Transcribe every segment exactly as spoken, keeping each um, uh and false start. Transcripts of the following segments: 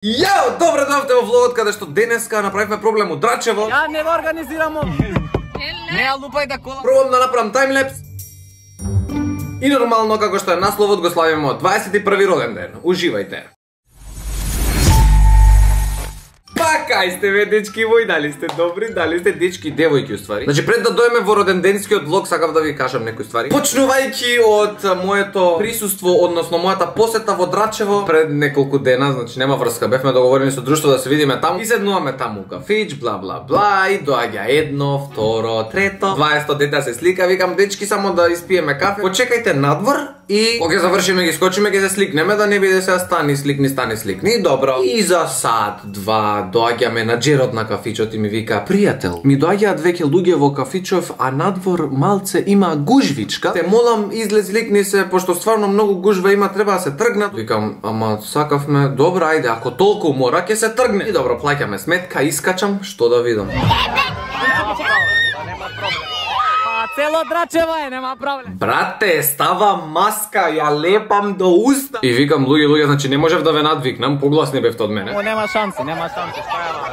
Јао, добре дојавте во влогот каде што денеска направивме проблем у Драчево. Ја не го организирамо. Не ја лупај да кола. Пробам да направам таймлепс. И нормално, како што е насловот, го славиме од дваесет и први роден ден. Уживајте. Па, кај сте ве, дечки мои, дали сте добри, дали сте дечки и девојки уствари. Значи, пред да дојме во роденденскиот влог, сакав да ви кажам некои ствари. Почнувајќи од моето присуство, односно мојата посета во Драчево пред неколку дена, значи нема врска, бевме договорени со друштво да се видиме таму. И седнуваме таму кафич, бла бла бла, и доаѓа едно, второ, трето, дваесетто дете се слика, викам дечки само да испиеме кафе. Почекајте надвор и кога ќе завршиме ги скочиме ќе се сликнеме, да не биде се стани сликни, стани сликни. Добро. И за сат, два доаѓа менаџерот на кафичот и ми вика: пријател, ми доаѓаат веќе луѓе во кафичов, а надвор малце има гужвичка. Те молам излез ликни се, пошто стварно многу гужва има, треба да се тргнат. Викам: ама сакавме, добро, ајде, ако толку мора ќе се тргне. И добро, плаќаме сметка, искачам, што да видам. Цело Драчево е, нема проблем. Брате, става маска, ја лепам до уста. И викам: луѓе, луѓе, значи не можев да ве надвикнам, погласни бевте од мене. О, нема шанси, нема шанси, стојава.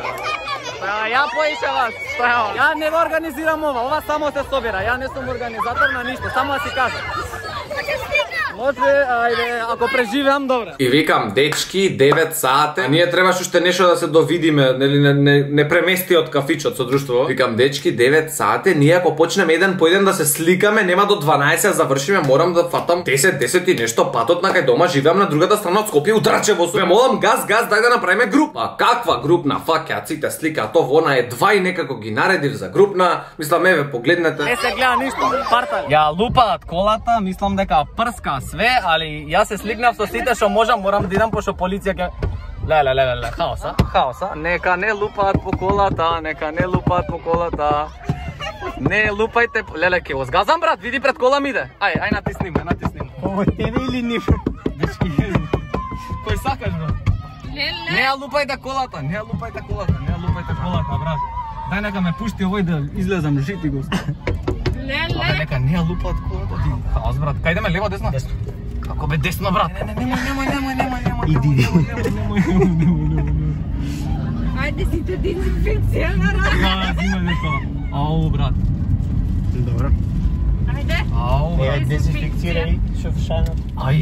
Ја поише вас, стојава. Ја не го организирам ова, ова само се собира, ја не сум организатор на ништо, само да си кажам. Може, ајде, ако преживеам, добре. И викам: дечки, девет сати, а ние требаш уште нешто да се довидиме, нели не, не, не премести од кафичот со друштво. Викам: дечки, девет сати, ние ако почнеме еден по еден да се сликаме, нема до дванаесет да завршиме, морам да фатам десет, десет и нешто патот на кај дома, живеам на другата страна од Скопје, у Драчево. Ме молам, газ, газ, дај да направиме група. Каква групна, фаќа, ците слика, то вона е два и некако ги наредив за групна. Мислам, еве, погледнете. Не се гледа ништо, партал. Ја лупаат колата, мислам дека прска све, али јас се сликнав со сите што можам, морам да идам пошто полиција ќе... Леле, леле, леле, хаоса, хаоса. Нека не лупаат по колата, нека не лупаат по колата. Не лупајте, леле, ке озгазам, брат, види пред кола ми иде. Ај, ај натисни ме, натисни ме. Ово тебе или нив? Дечки, кој сакаш, брат? Не ја лупајте колата, не ја лупајте колата, не ја лупајте колата, брат. Дај нека ме пушти овој да излезам жити го. Леле. Нека не ја лупаат колата, ти. Хаос, брат. Кај идеме, лево, десно? Десно. Како бе десно, брат? Не, не, немој, немој, немој, немој, немој. Иди, иди. Немој, немој, немој, немој. Ајде си те дезинфекција на рака. Да, зимај тоа. Ау, брат. Добро. Ајде. Ау, брат. Дезинфекцирај шофшанот. Ај.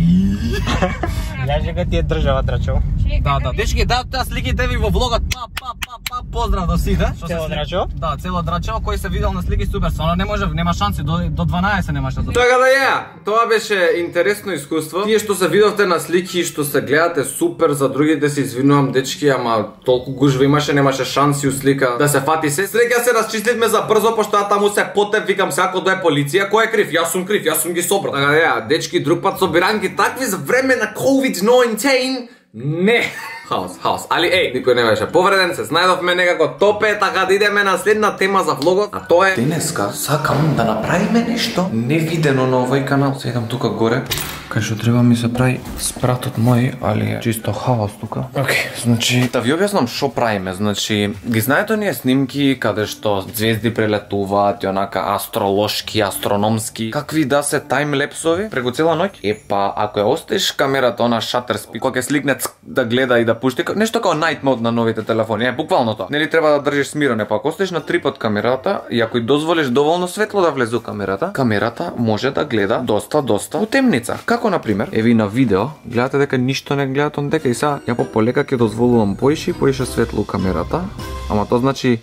Јажека ти е држава Драчево. Да, да, дечки, да, таа сликите ви во влогот. Па, па, па, па, поздрав до сите. Цело Драчево? Да, цело Драчево, кој се видел на слики супер. Стварно не може, нема шанси до до дванаесет немаше да. Така да ја, тоа беше интересно искуство. Тие што се видовте на слики, што се гледате супер, за другите се извинувам дечки, ама толку гужва имаше, немаше шанси у слика да се фати се. Среќа се расчистивме за брзо, пошто ја таму се потеп, викам се ако дое полиција, кој е крив? Јас сум крив, јас сум ги собрал. Така да ја, дечки, друг пат собиранки такви за време на ковид деветнаесет. Не. Хаос, хаос. Али еј, никој не беше повреден, се знајдовме некако топе, така да идеме на следна тема за влогот, а тоа е... Денеска сакам да направиме нешто невидено на овој канал. Седам тука горе, кај што треба ми се прави спратот мој, али е чисто хаос тука. Океј, значи, да ви објаснам шо правиме. Значи, ги знаете оние снимки каде што звезди прелетуваат и онака астролошки, астрономски, какви да се таймлепсови преку цела ноќ? Епа, ако ја оставиш камерата она шатер спид, кога ќе сликне да гледа и да пушти, нешто како night mode на новите телефони, е буквално тоа. Нели треба да држиш смирено, па ако оставиш на трипод камерата и ако и дозволиш доволно светло да влезе у камерата, камерата може да гледа доста доста у темница. Како на пример, еви на видео, гледате дека ништо не гледат он дека и сега ја по полека ќе дозволувам поише и поише светло у камерата, ама тоа значи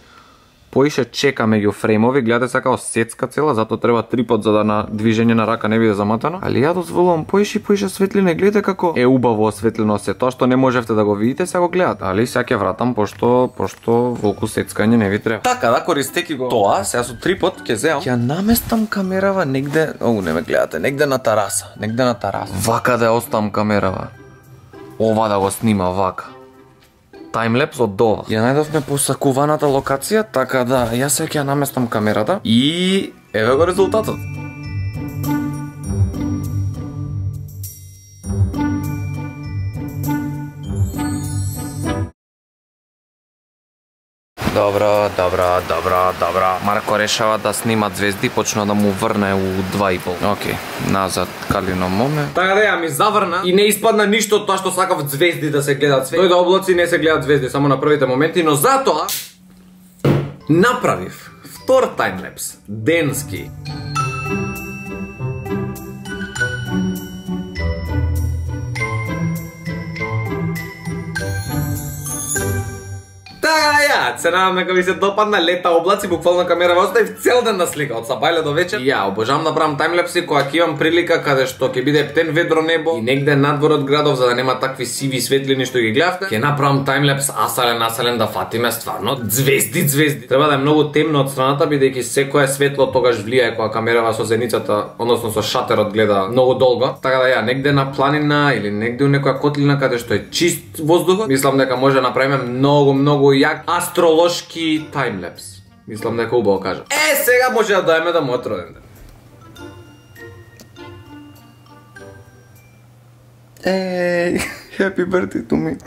поише чека меѓу фреймови, гледате сега као сецка цела, затоа треба трипод за да на движење на рака не биде заматано. Али ја дозволувам поише и поише светлина, гледате како е убаво осветлено се. Тоа што не можевте да го видите, сега го гледате. Али сега ќе вратам пошто пошто волку сецкање не ви треба. Така да, користејќи го тоа, сега со трипод ќе земам, ќе наместам камерава негде, оу не ме гледате, негде на тараса, негде на тараса. Вака да ја оставам камерава. Ова да го снима вака. Таймлепс од дова. Ја најдовме посакуваната локација, така да јас сега ќе наместам камерата и еве го резултатот. Добро, добро, добро, добро. Марко решава да снима звезди, почна да му врне у два и пол. Океј, назад Калино моме. Така да ја ми заврна и не испадна ништо од тоа што сакав звезди да се гледат. Дојде облаци, не се гледат звезди, само на првите моменти, но затоа направив втор таймлепс, денски. Ја, се надам дека ви се допадна, лета облаци, буквално камера во оставив цел ден да слика, од сабајле до вечер. Ја, обожавам да правам таймлепси кога ќе имам прилика каде што ќе биде птен ведро небо и негде надвор од градов за да нема такви сиви светлини што ги гледавте. Ќе направам таймлепс асален асален да фатиме стварно звезди звезди. Треба да е многу темно од страната бидејќи секое светло тогаш влијае кога камерава со зеницата, односно со шатерот гледа многу долго. Така да ја, негде на планина или негде у некоја котлина каде што е чист воздухот, мислам дека може да направиме многу многу јак астролошки таймлепс. Мислам дека убаво кажа. Е, сега може да дојме да му отроден ден. Еј, happy birthday to me.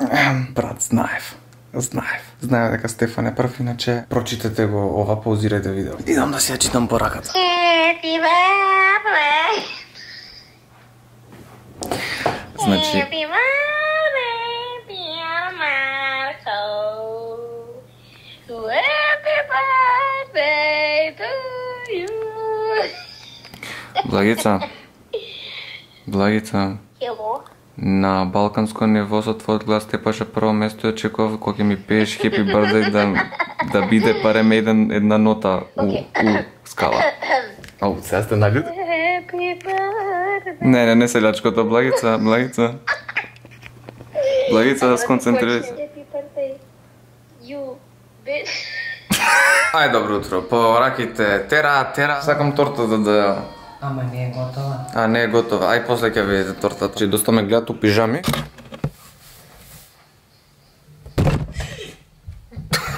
Брат, знаев. Знаев. Знаев дека Стефан е прв, иначе прочитате го ова, паузирајте видео. Идам да си ја читам по раката. Happy birthday. Значи, Happy birthday, dear Marco. Happy birthday to you. Благица. Благица. Hello. На балканско ниво со твојот глас те паше прво место и очекував кога ќе ми пееш Happy birthday да да биде барем еден една нота у, у скала. Ау, сега сте налюд? Happy birthday. Не, не, не се лячкото, Благица, Благица. Благица, да сконцентрирај се. Happy birthday. You bitch. Ај, добро утро. По раките тера, тера. Сакам тортата да... Ама не е готова. А, не е готова. Ај, после ќе видите тортата. Че доста ме гледат у пижами.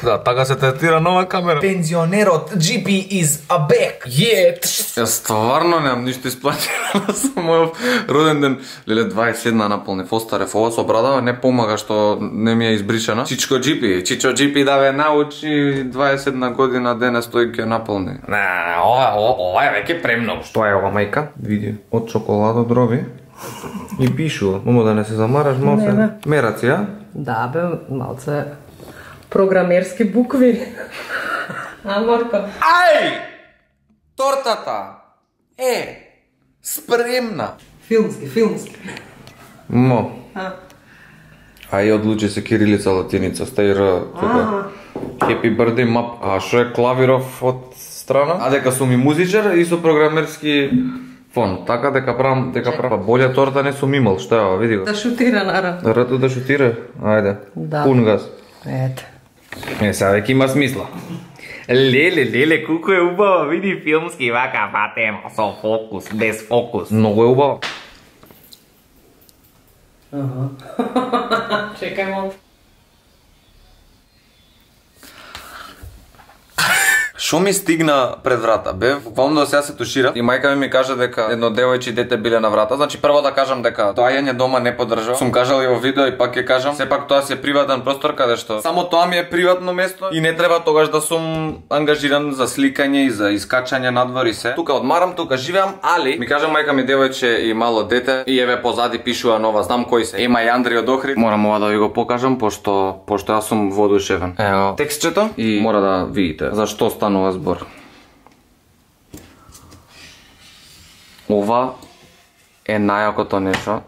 Да, така се третира нова камера. Пензионерот Джи Пи is a back. Yeah. Јас стварно немам ништо исплатено за мојот роден ден. Леле дваесет и седма наполнив, остарев. Ова со брадава не помага што не ми е избришена. Чичко Джи Пи, Чичо Джи Пи да ве научи дваесет и седма година денес тој ќе наполни. Не, ова, ова, ова е веќе премногу. Што е ова, мајка? Види, од чоколадо дроби. И пишува, момо да не се замараш, мал се. Мераци, ја? Да, бе, малце програмерски букви. А, Марко? Ај! Тортата е спремна. Филмски, филмски. Мо. А. Ај, одлучи се кирилица, латиница, стај Р, тука. Happy birthday map. А шо е клавиров од страна? А дека сум и музичар и со програмерски фон. Така дека правам, дека правам. Болја торта не сум имал, што е ова, види го. Да шутира, наравно. Рто да шутира? Ајде. Да. Пун газ. Ете. Е, сега веќе има смисла. Леле, леле, колку е убава, види филмски вака фатема, со фокус, без фокус. Многу е убава. Чекај малку. Шо ми стигна пред врата? Бев, буквално сега се тушира и мајка ми ми кажа дека едно девојче и дете биле на врата. Значи прво да кажам дека доаѓање дома не поддржав. Сум кажал и во видео и пак ќе кажам, сепак тоа си е приватен простор каде што само тоа ми е приватно место и не треба тогаш да сум ангажиран за сликање и за искачање надвор и се. Тука одмарам, тука живеам, али ми кажа мајка ми девојче и мало дете и еве позади пишува нова, знам кој се. Ема и Андри од Охрид. Морам ова да ви го покажам пошто пошто јас сум воодушевен. Ево текстчето и мора да видите зашто станува збор. Ова е најакото нешто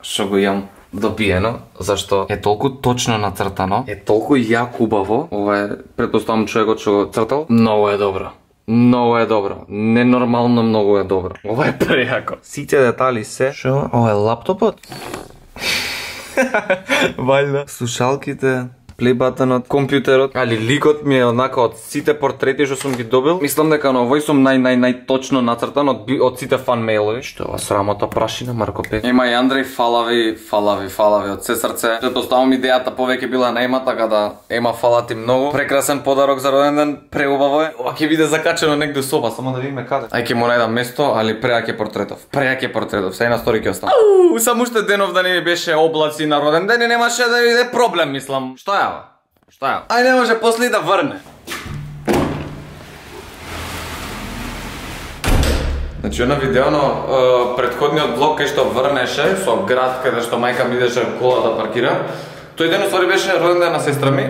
што го имам допиено, зашто е толку точно нацртано, е толку јак убаво. Ова е, претпоставам човекот што го цртал, многу е добро. Многу е добро. Ненормално многу е добро. Ова е прејако. Сите детали се. Шо? Ова е лаптопот? Вајда. Слушалките, плейбатенот, компјутерот, али ликот ми е однака од сите портрети што сум ги добил. Мислам дека на овој сум нај нај нај точно нацртан од од сите фан мейлови. Што е ова срамота прашина, Марко Пет? Ема и Андреј, фала ви, фала ви, фала ви од се срце. Претпоставам идејата повеќе била на Ема, така да Ема, фала ти многу. Прекрасен подарок за роден ден, преубаво е. Ова ќе биде закачено негде соба, само да видиме каде. Ај ќе му најдам место, али преак е портретов. Преак е портретов, сега на стори ќе остане. Ау, само уште денов да не ми беше облаци на роден ден и немаше да биде проблем, мислам. Што е ова? Шта е? Ај не може после да врне. Значи, на видеоно, предходниот влог кај што врнеше со град каде што мајка ми идеше кола да паркира, тој ден уствари беше роден ден на сестра ми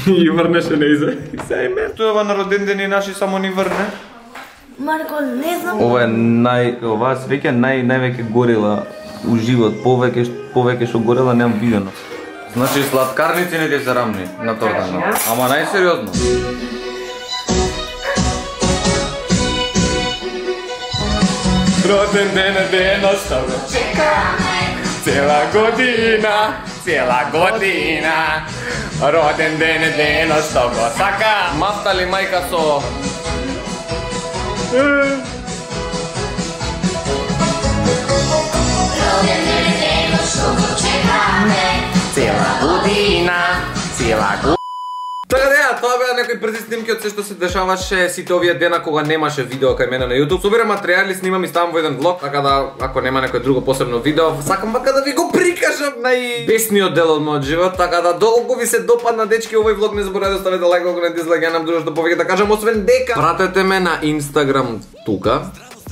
и врнеше неизе. И се и мен. Тоа на роден ден и наши само ни врне. Марко, не знам. Ова е нај, оваа свеќа нај највеќе горела у живот, повеќе повеќе што горела немам видено. Значи сладкарници не ти се рамни на тортата. Ама најсериозно. Роден ден е денот што го чекаме цела година, цела година. Роден ден е денот што го сака. Мафта ли мајка со Роден ден е денот што го чекаме цела година, цела година. Така да, тоа беа некои брзи снимки од се што се дешаваше сите овие дена кога немаше видео кај мене на YouTube. Собирам материјали, снимам и ставам во еден влог, така да ако нема некој друго посебно видео, сакам вака да ви го прикажам најбесниот дел од мојот живот, така да долго ви се допадна дечки овој влог, не заборавајте да ставите лајк, ако не дизлајк, ја нам душто повеќе да кажам, освен дека пратете ме на Instagram тука.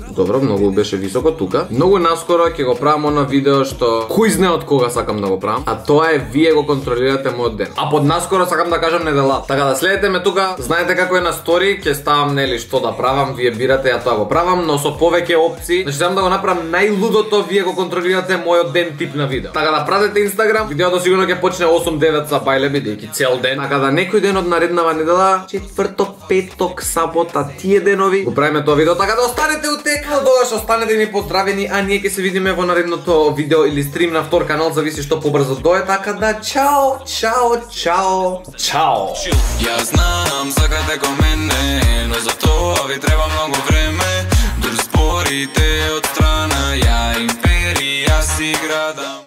Добро, многу беше високо тука. Многу наскоро ќе го правам оно видео што кој знае од кога сакам да го правам, а тоа е вие го контролирате мојот ден. А под наскоро сакам да кажам недела. Така да следете ме тука, знаете како е на стори, ќе ставам нели што да правам, вие бирате, ја тоа го правам, но со повеќе опции. Значи сакам да го направам најлудото, вие го контролирате мојот ден тип на видео. Така да пратете Instagram, видеото сигурно ќе почне осум девет за бајле бидејќи цел ден. Така да некој ден од нареднава недела, четврток, петок, сабота, тие денови го правиме тоа видео, така да останете у текна, тогаш останете ми поздравени, а ние ќе се видиме во наредното видео или стрим на втор канал, зависи што побрзо дое, така да чао, чао, чао, чао. Ја знам, сакате ко мене, но за тоа ви треба многу време. Дур спорите од страна, ја империја си градам.